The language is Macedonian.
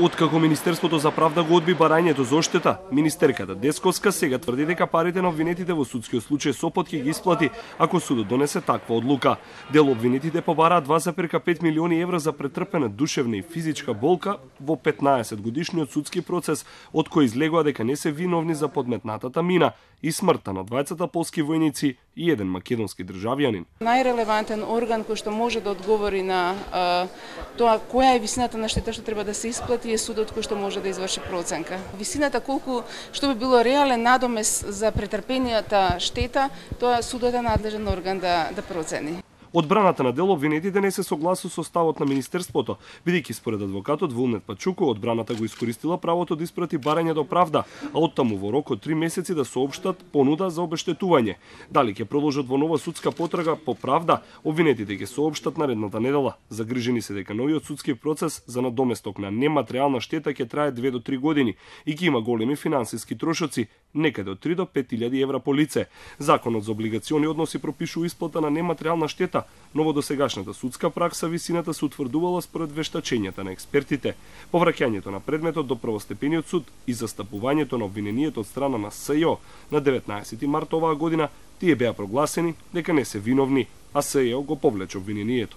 Откако Министерството за правда го одби барањето за оштета, министерката Десковска сега тврди дека парите на обвинетите во судскиот случај Сопот ќе ги исплати ако судот донесе таква одлука. Дел обвинетите побараат 2,5 милиони евра за претрпена душевна и физичка болка во 15 годишниот судски процес, од кој излегува дека не се виновни за подметнатата мина и смртта на двајцата полски војници и еден македонски државјанин. Најрелевантен орган кој што може да одговори на тоа која е висината на штета што треба да се исплати е судот кој што може да изврши проценка. Висината колку што би било реален надомес за претрпенијата штета, тоа судот е надлежен орган да процени. Одбраната на дел обвинетите не се согласува со ставот на министерството, бидејќи според адвокатот Вулнет Пачуко, одбраната го искористила правото да испрати барање до правда, а оттаму во рок од 3 месеци да соопштат понуда за обештетување. Дали ќе продолжат во нова судска потрага по правда, обвинетите ќе соопштат наредната недела. Загрижени се дека новиот судски процес за надоместок на нематеријална штета ќе трае 2 до 3 години и ќе има големи финансиски трошоци, некаде од 3 до 5.000 евра по лице. Законот за облигациони односи пропишува исплата на нематеријална штета, но во досегашната судска пракса висината се утврдувала според вештачењата на експертите. Повраќањето на предметот до првостепениот суд и застапувањето на обвиненијето од страна на СЈО на 19 март оваа година, тие беа прогласени дека не се виновни, а СЈО го повлече обвиненијето.